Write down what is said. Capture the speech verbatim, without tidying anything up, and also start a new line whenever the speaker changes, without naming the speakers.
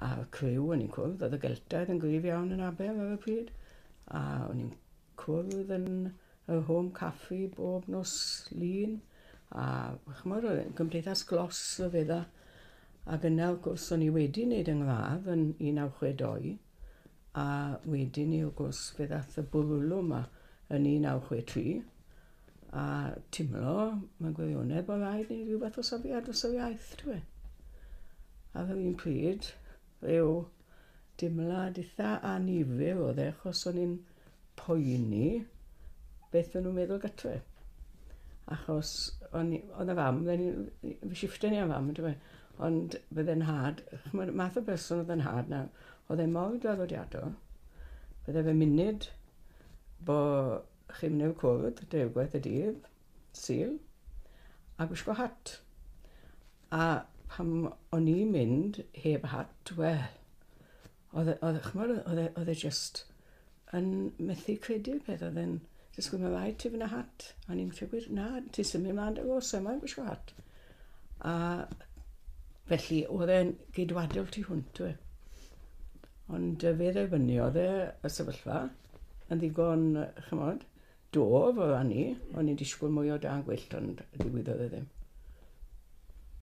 A'r criw o'n i'n cwrdd, oedd y Geltaidd yn gryf iawn yn Aber ar y pryd, a o'n i'n cwrdd yn y Home Cafe bob nos Lun, a ch'mod, oedd gymdeithas glos o fedda. Ac yna, wrth gwrs, o'n i wedi wneud yng ngradd yn un naw chwe dou, a wedyn ni, wrth gwrs, fe ddath y bwrlwm yma yn un naw chwe tri, a timlo, mewn gwirionedd, bod rhaid ni rhyw fath o safiad dros yr iaith, ti'n gwybod. Ar yr un pryd, rhyw dimlad eitha annifyr oedd e, achos o'n i'n poeni beth o'n nhw'n meddwl gatre. Achos o'n i, oedd y fam, fi shifften i am fam, ti'n gwybod, ond bydde'n nhad, ch'mod, math o berson oedd yn nhad na, oedd e mor draddodiadol, bydde fe munud bo chi'n mynd i'r cwrdd, deirgwaith y dydd, Sul, a gwisgo hat. A pam o'n i'n mynd heb hat, wel, oedd e, oedd, ch'mod, oedd e, oedd e just yn methu credu'r peth, oedd e'n disgwyl, mae rhaid ti fynd â hat. A ni'n gweud, na, ti'n symud mlaen dy gos, mae'n gwisgo hat. A felly, oedd e'n geidwadol tu hwnt, we. Ond fe dderbyniodd e y sefyllfa yn ddigon, ch'mod, dof o ran ni. O'n i'n disgwyl mwy o dân gwyllt, ond ddigwyddodd e ddim.